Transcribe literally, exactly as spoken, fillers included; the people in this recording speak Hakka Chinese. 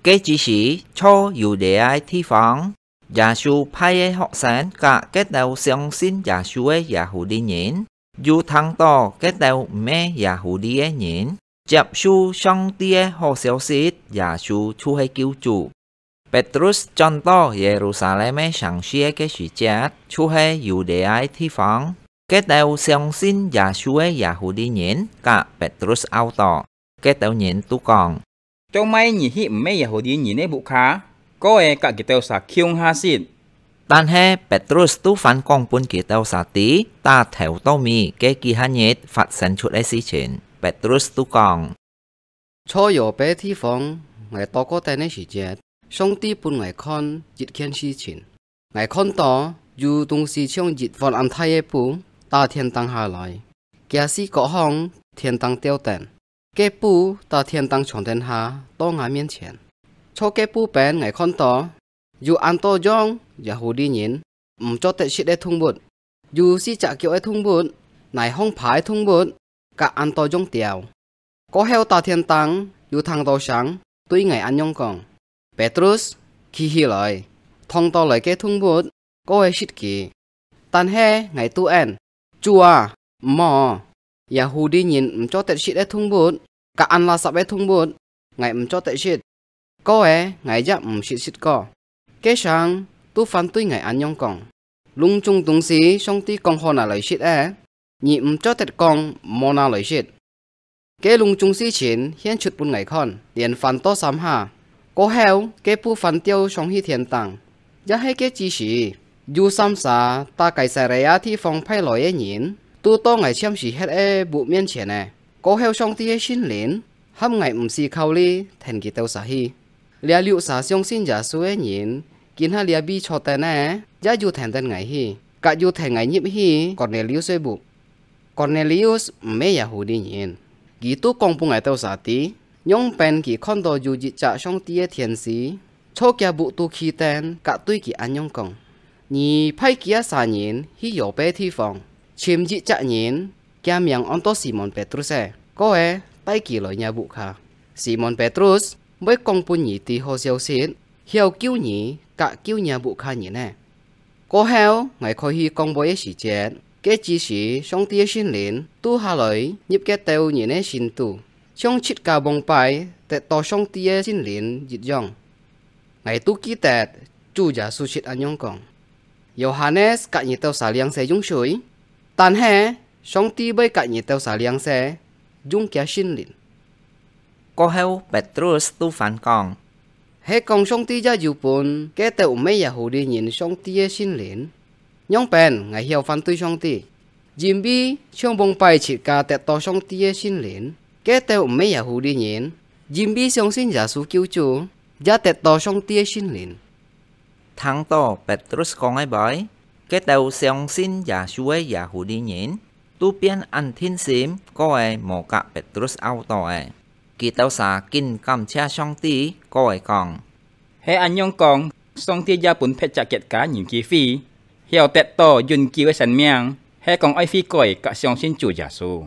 該之時，在猶太个地方，耶穌派个學生佮該兜相信耶穌个耶和華人，又聽到該兜毋係耶和華个人接受上帝个好消息，耶穌就係救主。Petrus轉到耶路撒冷个城市个時節，就係猶太个地方，該兜相信耶穌个耶和華人佮Petrus拗到，該兜人都講：「做麼你去毋係耶和華人个屋下，過仔佮佢兜儕共下食？」但係Petrus都還講分佢兜儕知，打頭到尾个幾下日發生出个事情。Petrus都講：「在Yope地方，𠊎到過等个時節，上帝分𠊎看一件事情。𠊎看到有東西像一碗恁大个布，打天頂下來，厥四角項天頂吊等，該布打天頂長等下到吾面前。在該布邊𠊎看到，有恁多樣耶和華人毋做得食个動物，有四隻腳个動物，泥項爬个動物，佮恁多樣鳥。」過後打天頂又聽到聲，對𠊎恁樣講：「Petrus，企起來，動到來个動物，過仔食佢。」但係𠊎都應：「主啊，毋好！耶和華人毋做得食个動物，佮恁垃圾个動物，𠊎毋做得食。」過仔𠊎也毋識食過。該聲都還對𠊎恁樣講：「攏總東西上帝講好拿來食个，你毋做得講毋好拿來食。」該攏總事情現出分𠊎看，連翻到三下。過後，該布還吊上去天頂。也係該之時，有三儕打該撒利亞地方派來个人，都到𠊎暫時歇个屋面前仔。過後上帝个聖靈，喊𠊎毋使考慮跈佢兜儕去。這六儕相信耶穌个人，今下這位坐等个，也有跈等𠊎去，佮有跈𠊎入去Kornelius个屋。Kornelius毋係耶和華人，佢都講分𠊎兜儕知，仰般佢看到有一隻上帝个天使，在厥屋肚企等，佮對佢恁樣講：「你派幾下儕人去Yope地方，尋一隻人，厥名安到Simon Petrus个，過仔帶佢來若屋下。Simon Petrus會講分你知好消息，曉救你佮救若屋下人个。」過後，𠊎開去講話个時節，該之時上帝个聖靈都下來入該兜人个心肚，像自家往擺得到上帝个聖靈一樣。𠊎都記得主耶穌識恁樣講：「Yohanes佮你兜儕領洗用水，但係上帝會佮你兜儕領洗，用厥聖靈。」過後，Petrus都還講：「係講上帝也有分該兜毋係耶和華人上帝个聖靈，仰般𠊎曉反對上帝？因為像往擺自家得到上帝个聖靈，該兜毋係耶和華人，因為相信耶穌救主，也得到上帝个聖靈。」聽到Petrus講个話，該兜相信耶穌个耶和華人都變恁定心，過仔無佮Petrus拗到仔。佢兜儕緊感謝上帝，過仔講：「係恁樣講，上帝也分別隻國家人機會，曉得到永久个生命，係講愛悔改佮相信主耶穌。」